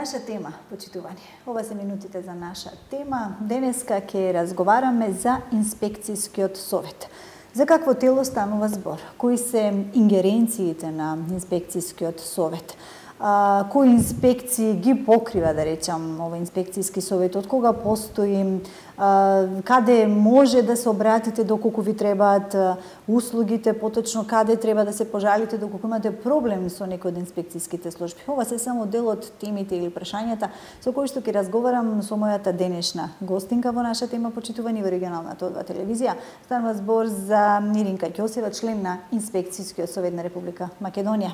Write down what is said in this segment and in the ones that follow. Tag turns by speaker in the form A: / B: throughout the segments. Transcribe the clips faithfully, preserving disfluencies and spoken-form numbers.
A: наша тема, почитувани. Ова се минутите за наша тема. Денеска ќе разговараме за инспекцијскиот совет. За какво тело станува збор? Кои се ингеренциите на инспекцијскиот совет? А, кои инспекции ги покрива, да речам, овој инспекцијски совет? Од кога постои? А, каде може да се обратите доколку ви требаат услугите, поточно каде треба да се пожалите доколку имате проблем со некој од инспекцијските служби? Ова се само дел од темите или прашањата со кои што ќе разговарам со мојата денешна гостинка во нашата тема, почитувани во регионалната одба телевизија. Станува збор за Иринка Ќосева, член на Инспекцијскиот совет на Република Македонија.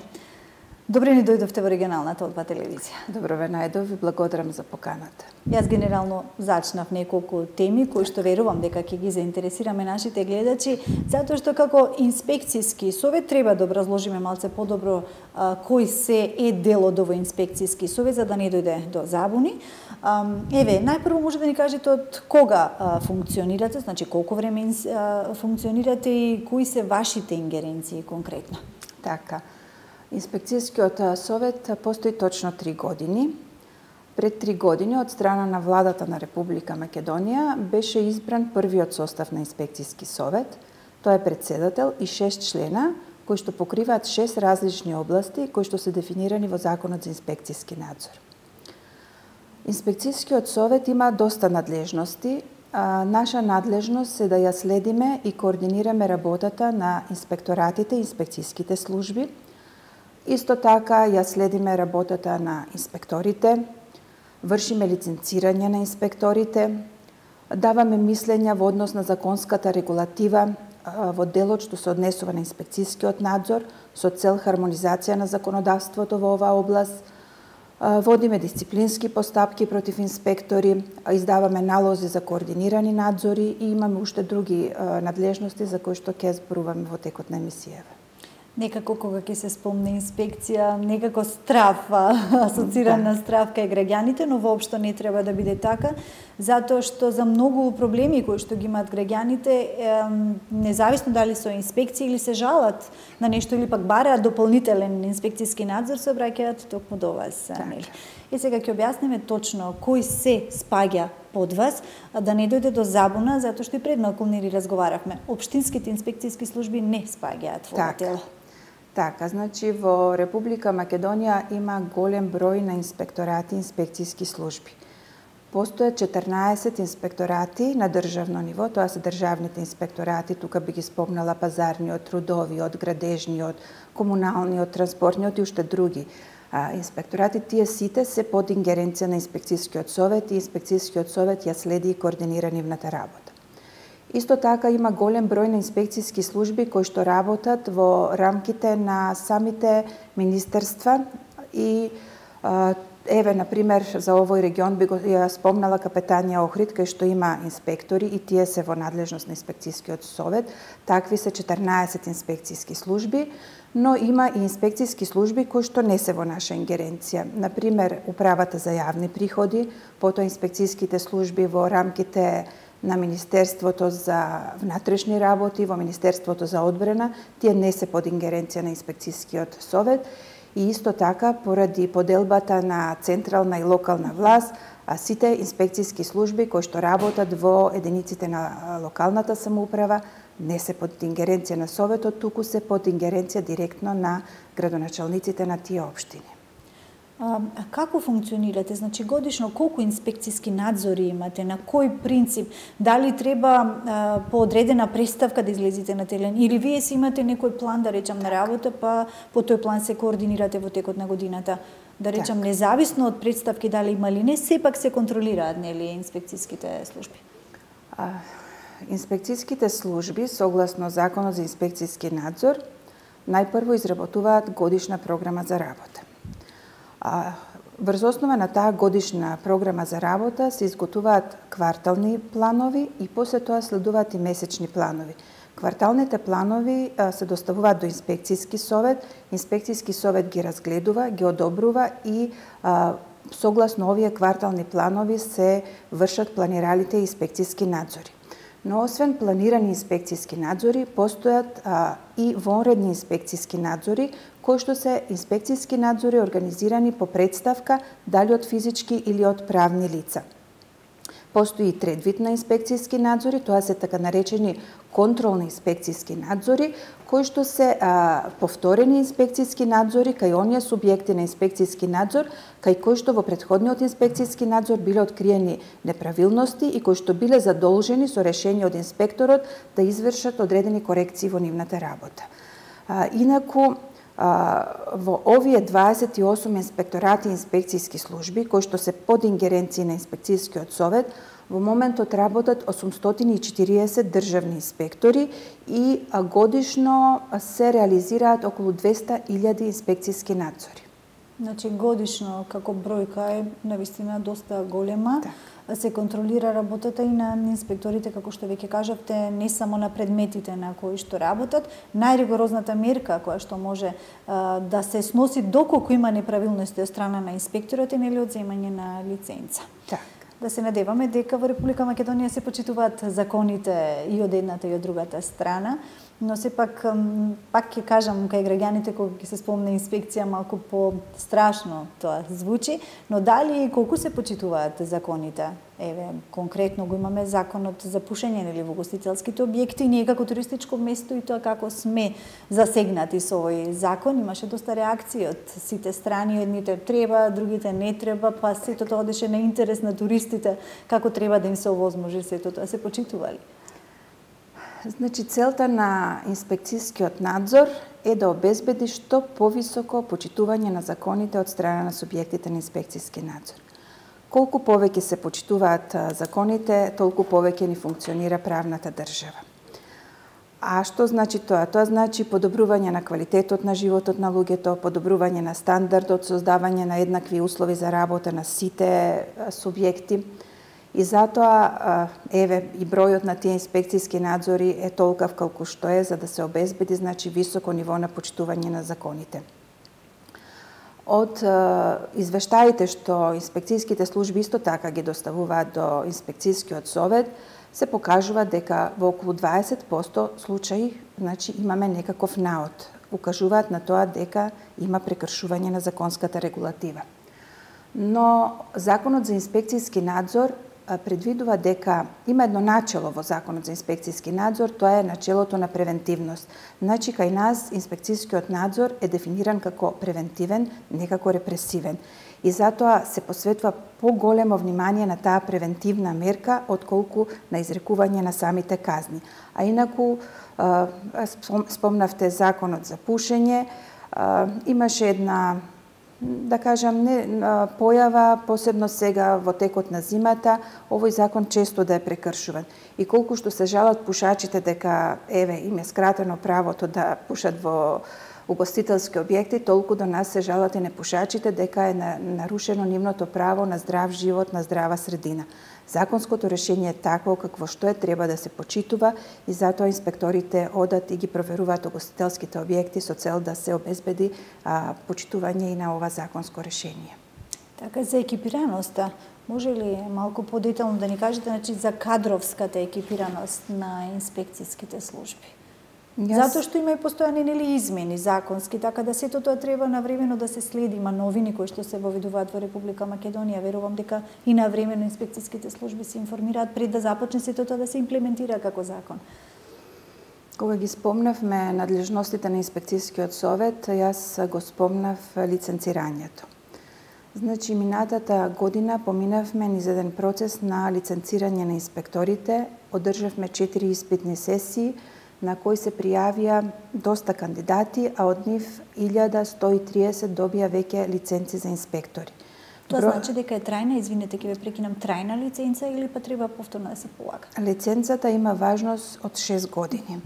A: Добре ни дојдовте во регионалната одба телевизија.
B: Добро ве најдов и благодарам за поканата.
A: Јас генерално зачнав неколку теми кои што верувам дека ќе ги заинтересираме нашите гледачи, затоа што како инспекцијски совет треба да образложиме малце подобро а, кој се е дел од овој инспекцијски совет за да не дојде до забуни. А, еве, најпрво може да ни кажете од кога а, функционирате, значи колку време а, функционирате и кои се вашите ингеренции конкретно?
B: Така. Инспекцијскиот совет постои точно три години. Пред три години од страна на владата на Република Македонија беше избран првиот состав на инспекцијски совет. Тој е председател и шест члена кои што покриваат шест различни области кои што се дефинирани во Законот за инспекцијски надзор. Инспекцијскиот совет има доста надлежности. Наша надлежност е да ја следиме и координираме работата на инспекторатите и инспекцијските служби. Исто така ја следиме работата на инспекторите, вршиме лиценцирање на инспекторите, даваме мислења во однос на законската регулатива во делот што се однесува на инспекцијскиот надзор со цел хармонизација на законодавството во оваа област, водиме дисциплински постапки против инспектори, издаваме налози за координирани надзори и имаме уште други надлежности за кои што ќе зборуваме во текот на емисијава.
A: Некако кога ќе се спомне инспекција, некако страв, асоциран да. на страв кај граѓаните, но воопшто не треба да биде така, затоа што за многу проблеми кои што ги имаат граѓаните, независно дали со инспекција или се жалат на нешто или пак бараат дополнителен инспекцијски надзор, се обраќаат токму до вас, нели? И сега ќе објасниме точно кој се спаѓа под вас, да не дојде до забуна, затоа што и пред малку ни разговаравме. Општинските инспекцијски служби не спаѓаат во ова тело.
B: Така, значи во Република Македонија има голем број на инспекторати и инспекцијски служби. Постојат четрнаесет инспекторати на државно ниво, тоа се државните инспекторати, тука би ги спомнала пазарниот, трудовиот, градежниот, комуналниот, транспортниот и уште други. А, инспекторати тие сите се под ингеренција на инспекцијскиот совет и инспекцијскиот совет ја следи и координира нивната работа. Исто така има голем број на инспекцијски служби кои што работат во рамките на самите министерства и еве на пример за овој регион би го ја спомнала Капетанија Охрид кај што има инспектори и тие се во надлежност на инспекцијскиот совет. Такви се четрнаесет инспекцијски служби, но има и инспекцијски служби кои што не се во наша ингеренција. На пример управата за јавни приходи, потоа инспекцијските служби во рамките на Министерството за внатрешни работи, во Министерството за одбрана, тие не се под ингеренција на инспекцијскиот совет и исто така поради поделбата на централна и локална власт, а сите инспекцијски служби кои што работат во единиците на локалната самоуправа не се под ингеренција на советот, туку се под ингеренција директно на градоначалниците на тие општини.
A: А, како функционирате? Значи годишно колку инспекцијски надзори имате? На кој принцип? Дали треба а, по одредена представка да излезете на терен или вие си имате некој план, да речам, на работа, па по тој план се координирате во текот на годината? Да речам, так. Независно од представки дали има или не, сепак се контролираат, нели, инспекцијските служби?
B: А, инспекцијските служби, согласно Законот за инспекцијски надзор, најпрво изработуваат годишна програма за работа. А, врз основа на таа годишна програма за работа се изготуваат квартални планови и после тоа следуваат и месечни планови. Кварталните планови а, се доставуваат до инспекцијски совет, инспекцијски совет ги разгледува, ги одобрува и а, согласно овие квартални планови се вршат планиралите инспекцијски надзори. Но освен планирани инспекцијски надзори, постојат а, и вонредни инспекцијски надзори, кои што се инспекцијски надзори организирани по представка, дали од физички или од правни лица. Постои и трет вид на инспекцијски надзори, тоа се така наречени контролни инспекцијски надзори, кои што се а, повторени инспекцијски надзори кај оние субјекти на инспекцијски надзор, кај кои што во претходниот инспекцијски надзор биле откриени неправилности и кои што биле задолжени со решение од инспекторот да извршат одредени корекции во нивната работа. А, инаку, А, во овие дваесет и осум инспекторати и инспекцијски служби, кои што се под ингеренција на инспекцијскиот совет, во моментот работат осумстотини и четириесет државни инспектори и годишно се реализираат околу двеста илјади инспекцијски надзори.
A: Значи годишно како бројка е навистина доста голема. Так. Се контролира работата и на инспекторите, како што веќе кажавте, не само на предметите на кои што работат. Најригорозната мерка која што може а, да се сноси доколку има неправилности од страна на инспекторот е нели одземање на лиценца.
B: Так.
A: Да се надеваме дека во Република Македонија се почитуваат законите и од едната и од другата страна, но сепак пак ќе кажам кај граѓаните кога ќе се спомне инспекција малку по-страшно тоа звучи, но дали и колку се почитуваат законите? Еве, конкретно го имаме законот за пушење нели во гостителските објекти, ние како туристичко место и тоа како сме засегнати со овој закон, имаше доста реакции од сите страни, едните треба, другите не треба, па сето тоа одеше на интерес на туристите, како треба да им се овозможи сето тоа, се почитували?
B: Значи, целта на инспекцијскиот надзор е да обезбеди што повисоко почитување на законите од страна на субјектите на инспекцијски надзор. Колку повеќе се почитуваат законите, толку повеќе ни функционира правната држава. А што значи тоа? Тоа значи подобрување на квалитетот на животот на луѓето, подобрување на стандардот, создавање на еднакви услови за работа на сите субјекти. И затоа, еве, и бројот на тие инспекцијски надзори е толкав колку што е, за да се обезбеди, значи, високо ниво на почитување на законите. Од е, извештаите што инспекцијските служби исто така ги доставуваат до инспекцијскиот совет, се покажува дека во околу дваесет проценти случаи, значи, имаме некаков наод. Укажуваат на тоа дека има прекршување на законската регулатива. Но Законот за инспекцијски надзор предвидува дека има едно начело во Законот за инспекцијски надзор, тоа е начелото на превентивност. Значи, кај нас инспекцијскиот надзор е дефиниран како превентивен, не како репресивен. И затоа се посветува поголемо внимание на таа превентивна мерка, отколку на изрекување на самите казни. А инаку, спомнавте Законот за пушење, имаше една, да кажам, не, појава, посебно сега во текот на зимата, овој закон често да е прекршуван. И колку што се жалат пушачите дека, еве, им е скратено правото да пушат во угостителски објекти, толку до нас се жалат и непушачите дека е нарушено нивното право на здрав живот, на здрава средина. Законското решение е такво какво што е, треба да се почитува и затоа инспекторите одат и ги проверуваат угостителските објекти со цел да се обезбеди а, почитување и на ова законско решение.
A: Така, за екипираноста, може ли малку подетално да ни кажете, значи, за кадровската екипираност на инспекцијските служби? Јас... Затоа што има и постојани нели измени законски, така да сето тоа треба навремено да се следи, има новини кои што се воведуваат во Република Македонија. Верувам дека и навремено инспекцијските служби се информираат пред да започне сето тоа да се имплементира како закон.
B: Кога ги спомнавме надлежностите на инспекцијскиот совет, јас го спомнав лиценцирањето. Значи, минатата година поминавме низ еден процес на лиценцирање на инспекторите, одржавме четири испитни сесии, на кои се пријавија доста кандидати, а од нив илјада сто и триесет добија веќе лиценци за инспектори.
A: Тоа Бро... значи дека е трајна, извинете, ќе ве прекинам, трајна лиценца или па треба повторно да се полага?
B: Лиценцата има важност од шест години.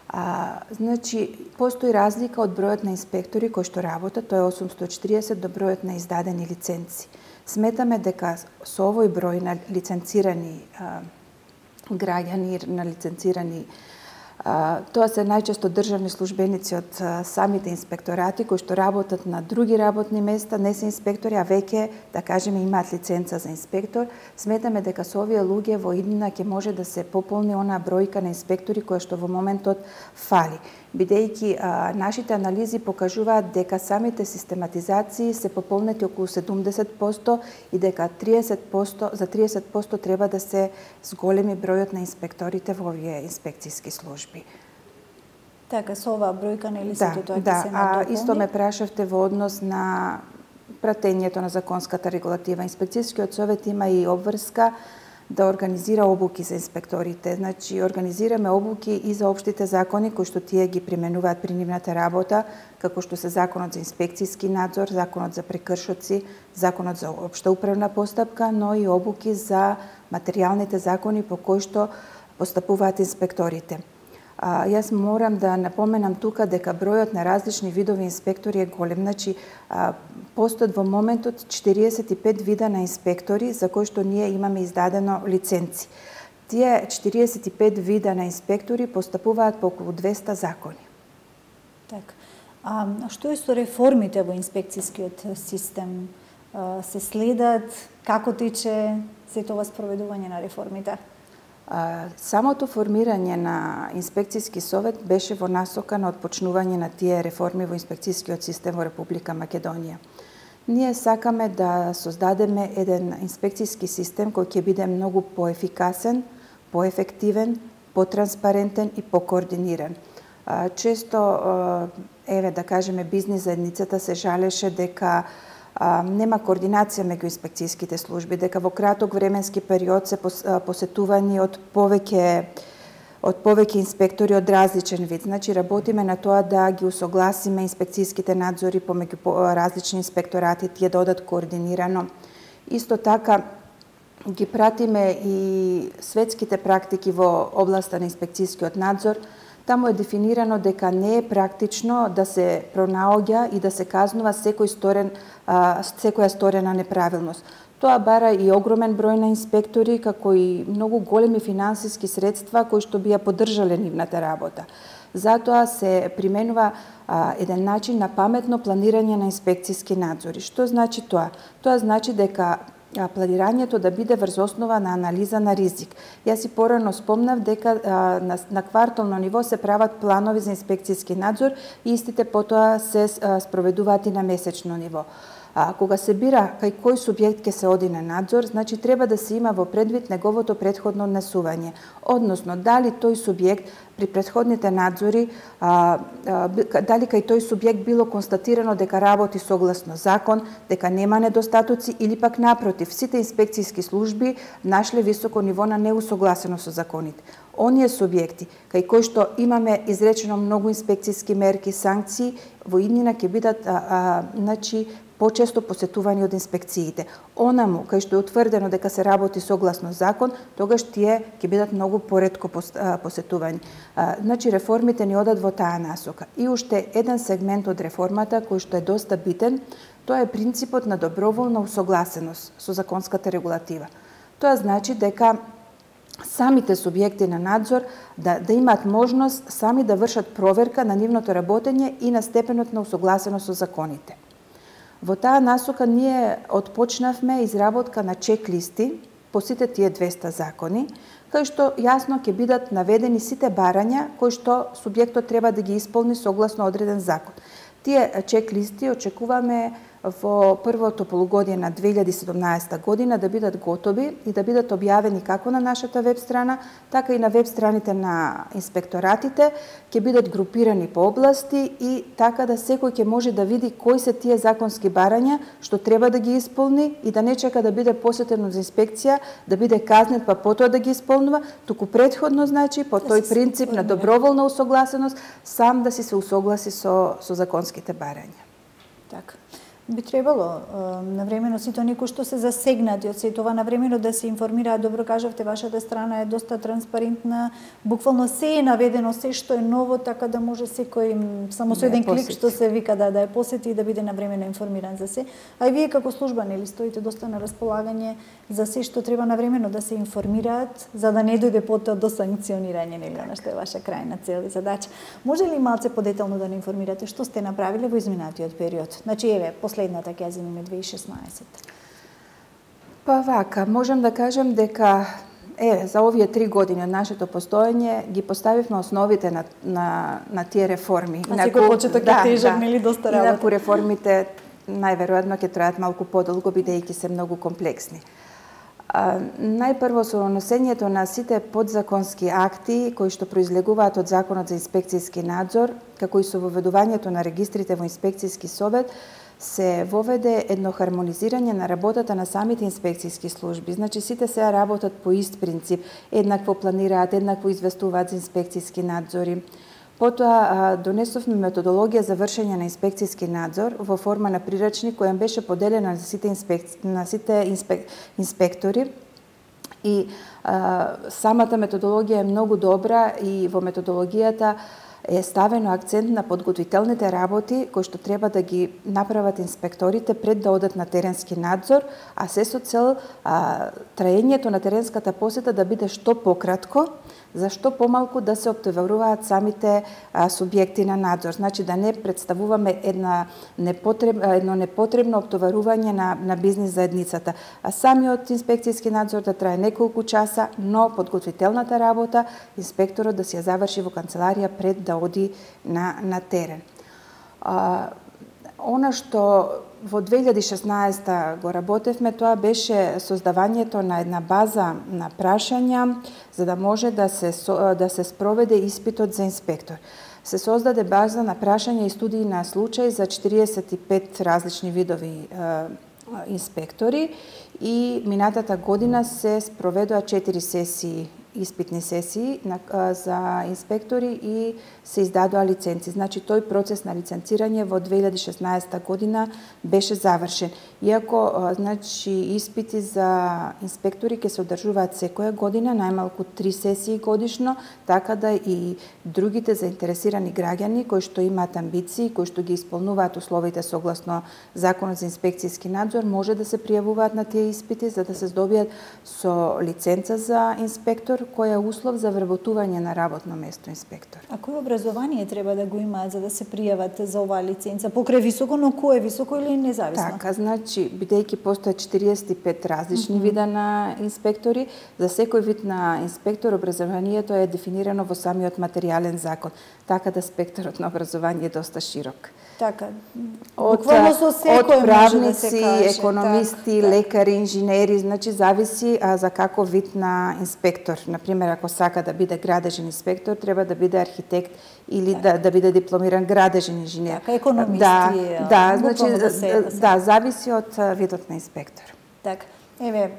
B: А, значи, постои разлика од бројот на инспектори кои што работат, тоа е осумсто и четириесет до бројот на издадени лиценци. Сметаме дека со овој број на лиценцирани а, граѓани, на лиценцирани А, тоа се најчесто државни службеници од а, самите инспекторати кои што работат на други работни места, не се инспектори, а веќе, да кажеме, имаат лиценца за инспектор. Сметаме дека со овие луѓе во иднина ќе може да се пополни онаа бројка на инспектори која што во моментот фали. Бидејќи а, нашите анализи покажуваат дека самите систематизации се пополнети околу седумдесет проценти и дека триесет проценти, за триесет проценти треба да се зголеми бројот на инспекторите во овие инспекцијски служби.
A: Така, со оваа бројка нели се
B: да,
A: тоа ќе
B: да,
A: се
B: а
A: надополни?
B: исто ме прашавте во однос на пратењето на законската регулатива. Инспекцијскиот совет има и обврска да организира обуки за инспекторите. Значи, организираме обуки и за општите закони кои што тие ги применуваат при нивната работа, како што се Законот за инспекцијски надзор, Законот за прекршоци, Законот за општа управна постапка, но и обуки за материјалните закони по кои што постапуваат инспекторите. А, јас морам да напоменам тука дека бројот на различни видови инспектори е голем. Значи, а, постојат во моментот четириесет и пет вида на инспектори за кои што ние имаме издадено лиценци. Тие четириесет и пет вида на инспектори постапуваат по околу двеста закони.
A: Така. А што е со реформите во инспекцијскиот систем? А, се следат? Како тече сето ова спроведување на реформите?
B: Самото формирање на инспекцијски совет беше во насока на отпочнување на тие реформи во инспекцијскиот систем во Република Македонија. Ние сакаме да создадеме еден инспекцијски систем кој ќе биде многу поефикасен, поефективен, потранспарентен и покоординиран. Често, еве да кажеме, бизнис заедницата се жалеше дека А, нема координација меѓу инспекцијските служби, дека во краток временски период се посетувани од повеќе од повеќе инспектори од различен вид. Значи, работиме на тоа да ги усогласиме инспекцијските надзори помеѓу различни инспекторати, тие да одат координирано. Исто така, ги пратиме и светските практики во областа на инспекцијскиот надзор. Таму е дефинирано дека не е практично да се пронаоѓа и да се казнува секој сторен, секоја сторена неправилност. Тоа бара и огромен број на инспектори, како и многу големи финансиски средства кои што би ја поддржале нивната работа. Затоа се применува а, еден начин на паметно планирање на инспекцијски надзори. Што значи тоа? Тоа значи дека планирањето да биде врз основа на анализа на ризик. Јас и порано спомнав дека а, на, на квартално ниво се прават планови за инспекцијски надзор и истите потоа се а, спроведуваат и на месечно ниво. А кога се бира кај кој субјект ќе се оди на надзор, значи треба да се има во предвид неговото претходно однесување. Односно, дали тој субјект при претходните надзори, а, а, дали кај тој субјект било констатирано дека работи согласно закон, дека нема недостатоци или пак напротив, сите инспекцијски служби нашле високо ниво на неусогласено со законите. Оние субјекти кај кои што имаме изречено многу инспекцијски мерки, санкции, во иднина ќе бидат а, а, значи почесто посетувани од инспекциите. Онаму кај што е утврдено дека се работи согласно закон, тогаш тие ќе бидат многу поретко посетувани. Значи реформите ни одат во таа насока. И уште еден сегмент од реформата кој што е доста битен, тоа е принципот на доброволна усогласеност со законската регулатива. Тоа значи дека самите субјекти на надзор да, да имаат можност сами да вршат проверка на нивното работење и на степенот на усогласеност со законите. Во таа насока ние отпочнавме изработка на чек-листи по сите тие двеста закони, кај што јасно ќе бидат наведени сите барања кои што субјектот треба да ги исполни согласно одреден закон. Тие чек-листи очекуваме во првото полугодие на две илјади и седумнаесета година да бидат готови и да бидат објавени како на нашата веб страна, така и на веб страните на инспекторатите, ќе бидат групирани по области и така да секој ќе може да види кои се тие законски барања што треба да ги исполни и да не чека да биде посетен за инспекција, да биде казнет па потоа да ги исполнува, туку претходно значи по тој принцип на доброволна усогласеност сам да си се усогласи со со законските барања.
A: Така. Би требало навремено сите оние кои што се засегнати од се тоа навремено да се информираат. Добро кажавте, вашата страна е доста транспарентна, буквално се е наведено, се што е ново, така да може секој само со еден клик што се вика да да ја посети и да биде навремено информиран за се. А и вие како служба нели стоите доста на располагање за се што треба навремено да се информираат, за да не дојде потоа до санкционирање, нели, она што е ваша крајна цел и задача. Може ли малце подетално да не информирате што сте направиле во изминатиот период? Значи еве последната ќе ја земиме две илјади и шеснаесетта.
B: Па вака, можам да кажем дека е за овие три години од нашето постоење ги поставивме основите на на на тие реформи.
A: А секој почеток е тежок, нели, доста работа.
B: Инаку реформите најверојатно ќе траат малку подолго бидејќи се многу комплексни. А, најпрво со носењето на сите подзаконски акти кои што произлегуваат од Законот за инспекцијски надзор, како и со воведувањето на регистрите во инспекцијски совет, се воведе едно хармонизирање на работата на самите инспекцијски служби. Значи сите сега работат по ист принцип, еднакво планираат, еднакво известуваат за инспекцијски надзори. Потоа донесовме методологија за вршење на инспекцијски надзор во форма на прирачник која беше поделена на сите инспекци... на сите инспек... инспектори и а, самата методологија е многу добра и во методологијата е ставено акцент на подготвителните работи кои што треба да ги направат инспекторите пред да одат на теренски надзор, а се со цел а, траењето на теренската посета да биде што пократко, за што помалку да се оптоваруваат самите а, субјекти на надзор. Значи да не представуваме една непотреб, едно непотребно оптоварување на, на бизнис заедницата, а самиот инспекцијски надзор да трае неколку часа, но подготвителната работа инспекторот да се ја заврши во канцеларија пред да оди на, на терен. А, она што во две илјади и шеснаесетта го работевме, тоа беше создавањето на една база на прашања за да може да се, да се спроведе испитот за инспектор. Се создаде база на прашања и студии на случај за четириесет и пет различни видови е, инспектори и минатата година се спроведоа четири сесии испитни сесии на, а, за инспектори и се издадоа лиценци. Значи тој процес на лиценцирање во две илјади и шеснаесетта година беше завршен. Иако а, значи испити за инспектори ќе се одржуваат секоја година, најмалку три сесии годишно, така да и другите заинтересирани граѓани кои што имаат амбиции, кои што ги исполнуваат условите согласно Законот за инспекцијски надзор, може да се пријавуваат на тие испити за да се здобијат со лиценца за инспектор, кој е услов за вработување на работно место инспектор.
A: А кој образование треба да го имаат за да се пријават за оваа лиценца? Покрај високо, но кој е високо или независно?
B: Така, значи, бидејќи постојат четириесет и пет различни mm -hmm. вида на инспектори, за секој вид на инспектор образованието е дефинирано во самиот материјален закон, така да спектарот на образование е доста широк.
A: Така,
B: од,
A: со секој
B: од правници,
A: може да се каже,
B: економисти,
A: так,
B: лекари, инженери, значи зависи а, за каков вид на инспектор. Например, ако сака да биде градежен инспектор, треба да биде архитект или так. да, да биде дипломиран градежен инженер.
A: Така, економисти.
B: Да, да, значи,
A: да, се,
B: да, да, зависи од видот на инспектор.
A: Така. Еве,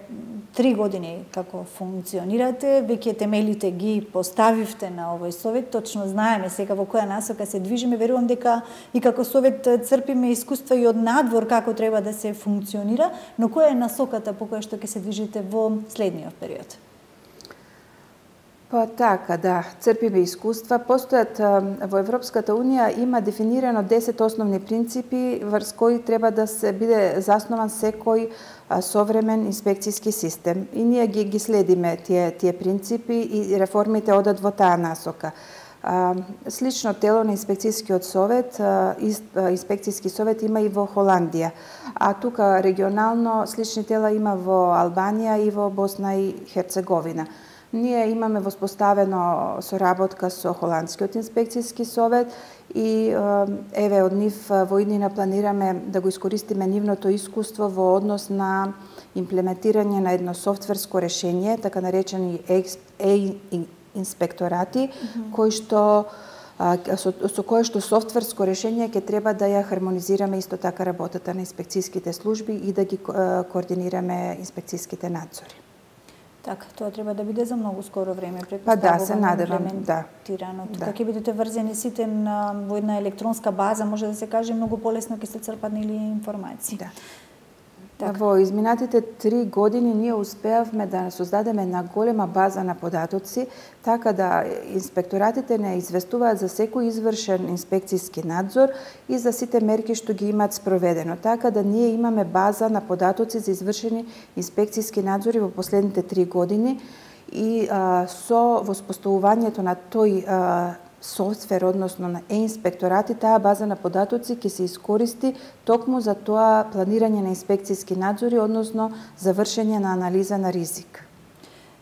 A: три години како функционирате, веќе темелите ги поставивте на овој совет, точно знаеме сега во која насока се движиме, верувам дека и како совет црпиме искуства и од надвор како треба да се функционира, но која е насоката по која што ќе се движите во следниот период?
B: Па така, да, црпиме искуства. Постојат во Европската Унија има дефинирано десет основни принципи врз кои треба да се биде заснован секој современ инспекцијски систем. И ние ги, ги следиме тие, тие принципи и реформите одат во таа насока. Слично тело на инспекцијскиот совет, инспекцијски совет има и во Холандија, а тука регионално слични тела има во Албанија и во Босна и Херцеговина. Ние имаме воспоставено соработка со Холандскиот инспекцијски совет и еве од нив во иднина планираме да го искористиме нивното искуство во однос на имплементирање на едно софтверско решение, така наречени е-инспекторати, mm -hmm. кои што со, со кое што софтверско решение ќе треба да ја хармонизираме исто така работата на инспекцијските служби и да ги координираме инспекцијските надзори.
A: Така, тоа треба да биде за многу скоро време,
B: Па да, се надевам, да.
A: Тука
B: да.
A: ќе бидете врзени сите на, во една електронска база, може да се каже, многу полесно ќе се црпат нели информации.
B: Да.
A: Така.
B: Во изминатите три години ние успеавме да создадеме една голема база на податоци, така да инспекторатите не известуваат за секој извршен инспекцијски надзор и за сите мерки што ги имаат спроведено. Така да ние имаме база на податоци за извршени инспекцијски надзори во последните три години и а, со воспоставувањето на тој а, софтвер, односно на е-инспекторати, таа база на податоци ќе се искористи токму за тоа планирање на инспекцијски надзори, односно за вршење на анализа на ризик.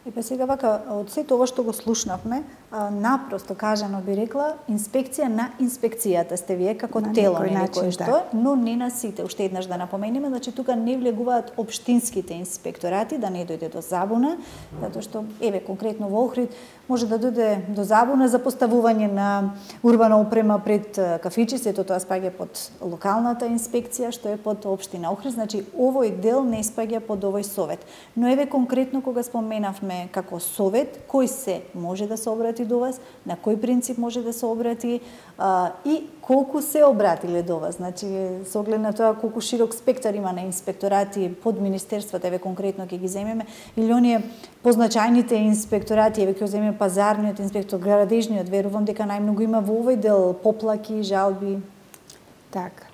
A: И па сега вака, од сето ова што го слушнавме, напросто кажано би рекла, инспекција на инспекцијата сте вие како
B: на
A: тело, нели,
B: начин,
A: кое што,
B: да.
A: но не на сите. Уште еднаш да напоменеме, значи тука не влегуваат општинските инспекторати, да не дојде до забуна, затоа што, еве, конкретно во Охрид, може да дојде до забуна за поставување на урбана опрема пред кафичи, сето тоа спаѓа под локалната инспекција, што е под општина Охрид, значи овој дел не спаѓа под овој совет. Но еве конкретно кога споменавме како совет, кој се може да се обрати до вас, на кој принцип може да се обрати а, и колку се обратиле до вас. Значи, со оглед на тоа колку широк спектар има на инспекторати под министерствата, еве конкретно ќе ги земеме, или оние позначајните инспекторати, еве ќе земеме пазарниот инспектор, градежниот, верувам дека најмногу има во овој дел поплаки, жалби.
B: Така.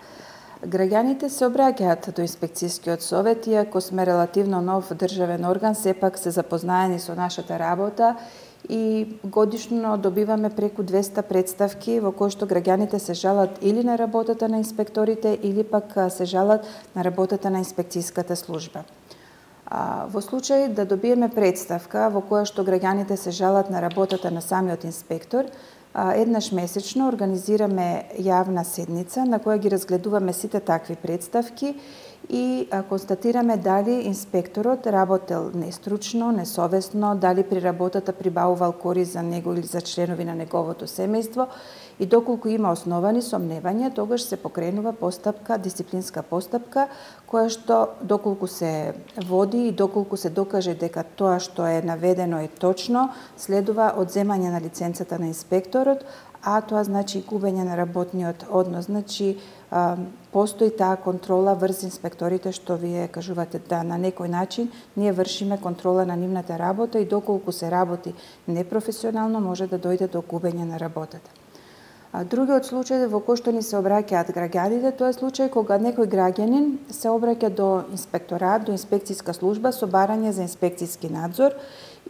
B: Граѓаните се обраќаат до инспекцијскиот совет, иако сме релативно нов државен орган, сепак се запознаени со нашата работа и годишно добиваме преку двеста представки во кои што граѓаните се жалат или на работата на инспекторите, или пак се жалат на работата на инспекцијската служба. Во случај да добиеме представка во која што граѓаните се жалат на работата на самиот инспектор, еднаш месечно организираме јавна седница на која ги разгледуваме сите такви представки и констатираме дали инспекторот работел нестручно, несовесно, дали при работата прибавувал корист за него или за членови на неговото семејство и доколку има основани сомневања, тогаш се покренува постапка, дисциплинска постапка, која што доколку се води и доколку се докаже дека тоа што е наведено е точно, следува одземање на лиценцата на инспекторот, а тоа значи губење на работниот однос. Значи, постои таа контрола врз инспекторите, што вие кажувате да на некој начин ние вршиме контрола на нивната работа и доколку се работи непрофесионално може да дојде до губење на работата. Другиот случај во кој што ни се обраќаат граѓаните, тоа е случај кога некој граѓанин се обраќа до инспекторат, до инспекцијска служба со барање за инспекцијски надзор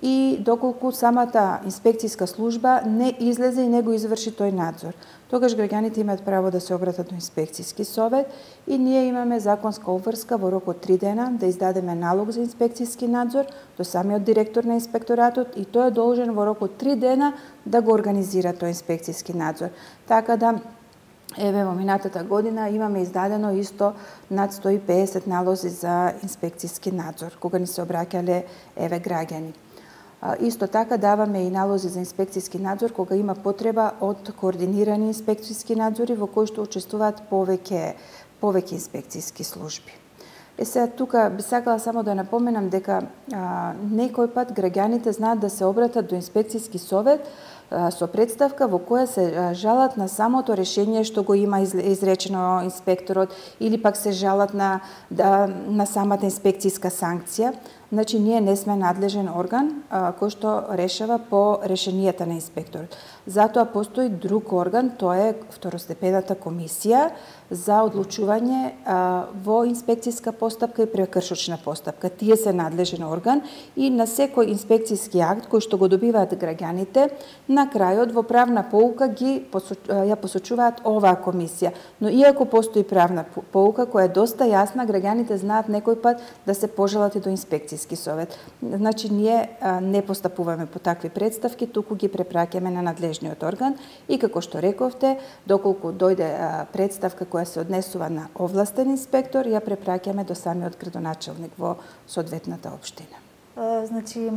B: и доколку самата инспекцијска служба не излезе и не го изврши тој надзор. Тогаш граѓаните имаат право да се обратат до инспекцијски совет и ние имаме законска обврска во рок од три дена да издадеме налог за инспекцијски надзор до самиот директор на инспекторатот и тој е должен во рок од три дена да го организира тој инспекцијски надзор. Така да еве во минатата година имаме издадено исто над сто и педесет налози за инспекцијски надзор кога ни се обраќале еве граѓани. Исто така даваме и налози за инспекцијски надзор кога има потреба од координирани инспекцијски надзори во кои што учествуваат повеќе повеќе инспекцијски служби. Е сега тука би сакала само да напоменам дека а, некој пат граѓаните знаат да се обратат до инспекцијски совет а, со представка во која се а, жалат на самото решение што го има изречено инспекторот или пак се жалат на да, на самата инспекцијска санкција. Значи, ние не сме надлежен орган а, кој што решава по решенијата на инспекторот. Затоа постои друг орган, тоа е второстепената комисија за одлучување а, во инспекцијска постапка и прекршочна постапка. Тие се надлежен орган и на секој инспекцијски акт кој што го добиваат граѓаните, на крајот во правна поука ги ја посочуваат оваа комисија. Но иако постои правна поука која е доста јасна, граѓаните знаат некој пат да се пожалат и до инспекцијски совет. Значи, ние а, не постапуваме по такви представки, туку ги препраќаме на надлежниот орган и како што рековте, доколку дојде а, представка која се однесува на овластен инспектор, ја препраќаме до самиот градоначелник во соодветната општина.
A: А, значи,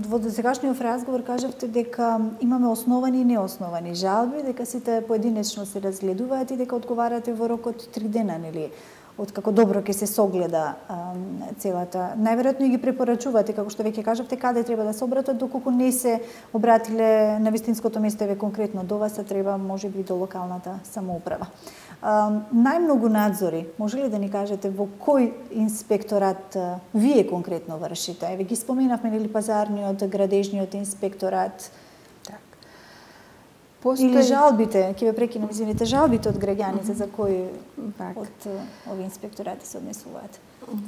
A: во досегашниот разговор кажавте дека имаме основани и неосновани жалби, дека сите поединечно се разгледуваат и дека одговарате во рок од три дена, нели? откако добро ќе се согледа а, целата. Најверојатно ги препорачувате, како што веќе кажавте, каде треба да се обратат, доколку не се обратиле на вистинското место, еве конкретно до вас, а треба можеби до локалната самоуправа. А, најмногу надзори, може ли да ни кажете во кој инспекторат а, вие конкретно вршите? Еве ги споменавме нели пазарниот, градежниот инспекторат. Постои... Или жалбите, ќе ве прекинам, извините, жалбите од граѓаните за кои так. од овие инспекторати се однесуваат?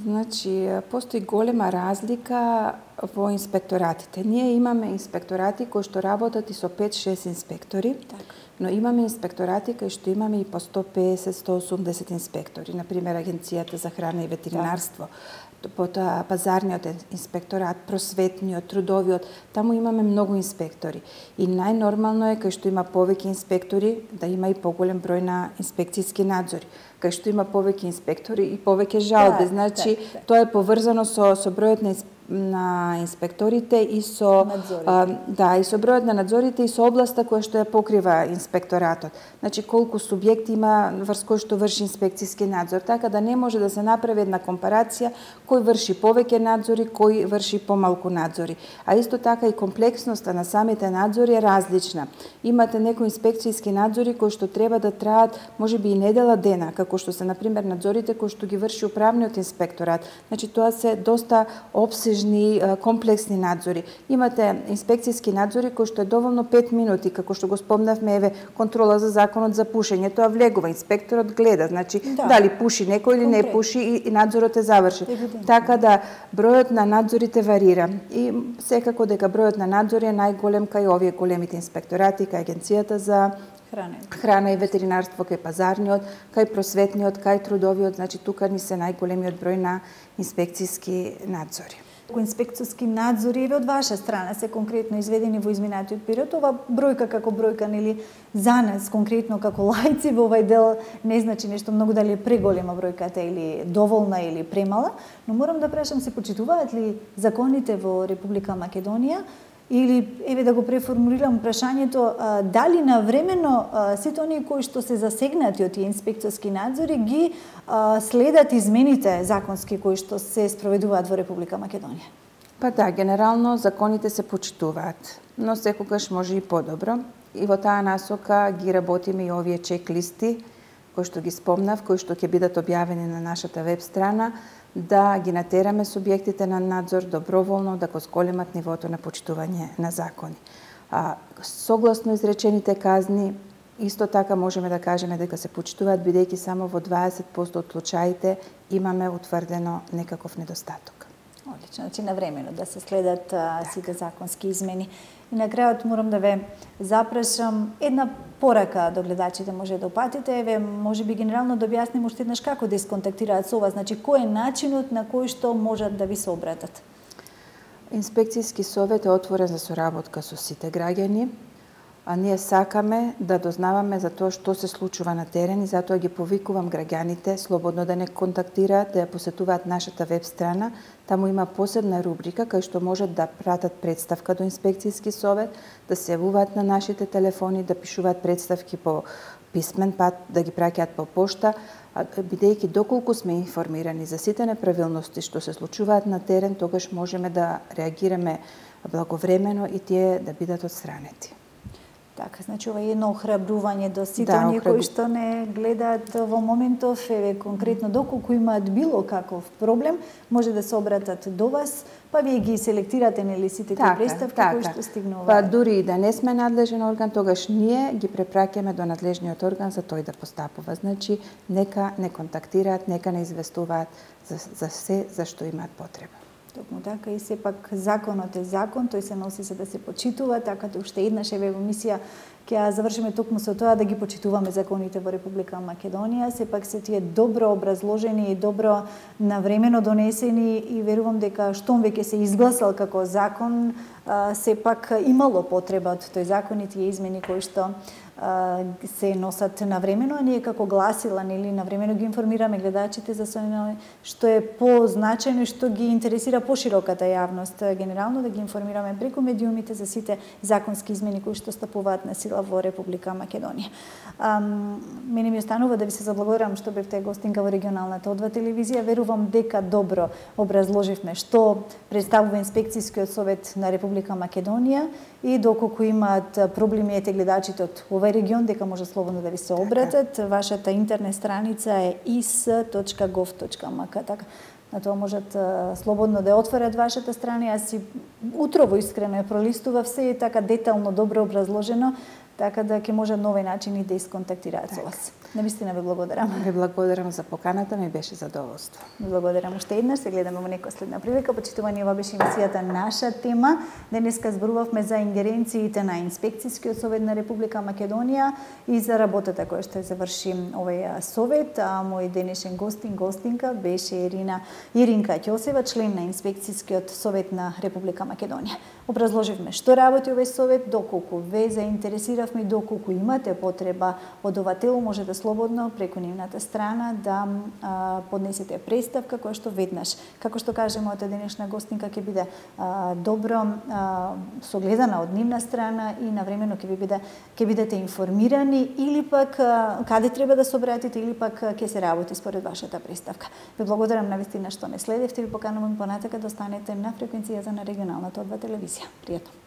B: Значи, постои голема разлика во инспекторатите. Ние имаме инспекторати кои што работат и со пет-шест инспектори, так. но имаме инспекторати кои што имаме и по сто песет до сто осумдесет инспектори. Например, Агенцијата за храна и ветеринарство, так. потоа пазарниот инспекторат, просветниот, трудовиот, таму имаме многу инспектори. И најнормално е кај што има повеќе инспектори да има и поголем број на инспекцијски надзори. Кај што има повеќе инспектори и повеќе жалби. Да, значи, да, да. тоа е поврзано со, со бројот на, на инспекторите и со а, да, и со бројот на надзорите и со областа која што ја покрива инспекторатот. Значи, колку субјекти има врз кој што врши инспекцијски надзор, така да не може да се направи една компарација кој врши повеќе надзори, кој врши помалку надзори. А исто така и комплексноста на самите надзори е различна. Имате некои инспекцијски надзори кои што треба да траат можеби и недела дена, како што се например надзорите кои што ги врши управниот инспекторат. Значи тоа се доста опсежни, комплексни надзори. Имате инспекцијски надзори кои што е доволно пет минути, како што го спомнавме, еве контрола за законот за пушење, тоа влегува, инспекторот гледа, значи да. дали пуши некој или не пуши и, и надзорот е завршен. Така да бројот на надзорите варира и секако дека бројот на надзори е најголем кај овие големите инспекторати, кај Агенцијата за Храна. Храна и ветеринарство, кај пазарниот, кај просветниот, кај трудовиот, значи тука ни се најголемиот број на инспекцијски надзори.
A: Кои инспекцијски надзори еве од ваша страна се конкретно изведени во изминатиот период, ова бројка како бројка нели за нас конкретно како лаици во овај дел не значи нешто многу дали е преголема бројката или доволна или премала, но морам да прашам, се почитуваат ли законите во Република Македонија? Или, еве да го преформулирам прашањето, а, дали навремено а, сите оние кои што се засегнати од тие инспекцијски надзори ги а, следат измените законски кои што се спроведуваат во Република Македонија?
B: Па да, генерално законите се почитуваат, но секогаш може и подобро. И во таа насока ги работиме и овие чек-листи, кои што ги спомнав, кои што ќе бидат објавени на нашата веб страна, да ги натераме субјектите на надзор доброволно да го зголемат нивото на почитување на закони. А, согласно изречените казни, исто така можеме да кажеме дека се почитуваат, бидејќи само во дваесет проценти од случаите имаме утврдено некаков недостаток.
A: Одлично, значи навремено да се следат а, сите законски измени. И на крајот морам да ве запрашам една порака до гледачите може да упатите, еве можеби генерално да објасним уште еднаш како да исконтактираат со вас, значи кој е начинот на кој што можат да ви се обратат?
B: Инспекцијски совет е отворен за соработка со сите граѓани, а ние сакаме да дознаваме за тоа што се случува на терен и затоа ги повикувам граѓаните слободно да не контактираат, да ја посетуваат нашата веб страна. Таму има посебна рубрика кај што можат да пратат представка до инспекцијски совет, да се јавуваат на нашите телефони, да пишуваат представки по писмен пат, да ги праќаат по пошта, бидејќи доколку сме информирани за сите неправилности што се случуваат на терен, тогаш можеме да реагираме благовремено и тие да бидат отстранети.
A: Така, значи ова е едно охрабрување до сите да, оние кои што не гледаат во моментов, еве конкретно доколку имаат било каков проблем, може да се обратат до вас, па вие ги селектирате нели сите тие представки така. Кои што стигнуваат.
B: Па дури и да не сме надлежен орган, тогаш ние ги препраќаме до надлежниот орган за тој да постапува. Значи нека не контактираат, нека не известуваат за, за се за што имаат потреба.
A: Токму така и сепак законот е закон, тој се носи се да се почитува, така да уште еднаш еве емисија ќе ја завршиме токму со тоа да ги почитуваме законите во Република Македонија, сепак се тие добро образложени и добро навремено донесени и верувам дека штом веќе се изгласал како закон, сепак имало потреба од тој закон и тие измени кои што се носат навремено, а ние како гласила нели навремено ги информираме гледачите за се што е позначајно и што ги интересира пошироката јавност, генерално да ги информираме преку медиумите за сите законски измени кои што стапуваат на сила сила во Република Македонија. Ам, мене ми останува да ви се заблагодарам што бевте гостинка во регионалната О два телевизија. Верувам дека добро образложивме што представува инспекцијскиот совет на Република Македонија и доколку имаат проблеми ете гледачите од овој регион, дека може слободно да ви се обратат. Вашата интернет страница е и с точка гов точка ем ка. Така, на тоа можат слободно да ја отворат вашата страна. Јас си утрово искрено ја пролистував, се е така детално, добро образложено, така да ќе може нови начини да исконтактираат со вас. Навистина ви благодарам.
B: Ви благодарам за поканата, ми беше задоволство.
A: Ви благодарам уште еднаш, се гледаме во некоја следна прилика. Почитувани, ова беше емисијата Наша тема. Денеска зборувавме за ингеренциите на Инспекцијскиот совет на Република Македонија и за работата која што заврши овој совет. А мој денешен гостин, гостинка беше Ирина Иринка Ќосева, член на Инспекцијскиот совет на Република Македонија. Образложивме што работи овој совет, доколку ве заинтересиравме, доколку имате потреба од ова тело, може да слободно преку нивната страна да а, поднесете представка која што веднаш, како што каже мојата денешна гостинка, ќе биде а, добро а, согледана од нивна страна и навремено ќе ви биде ќе бидете информирани или пак а, каде треба да се обратите или пак ќе се работи според вашата представка. Ви благодарам навистина што ме следевте и ви поканувам понатака да останете на фреквенцијата на регионалната О два телевизија. Пријатно.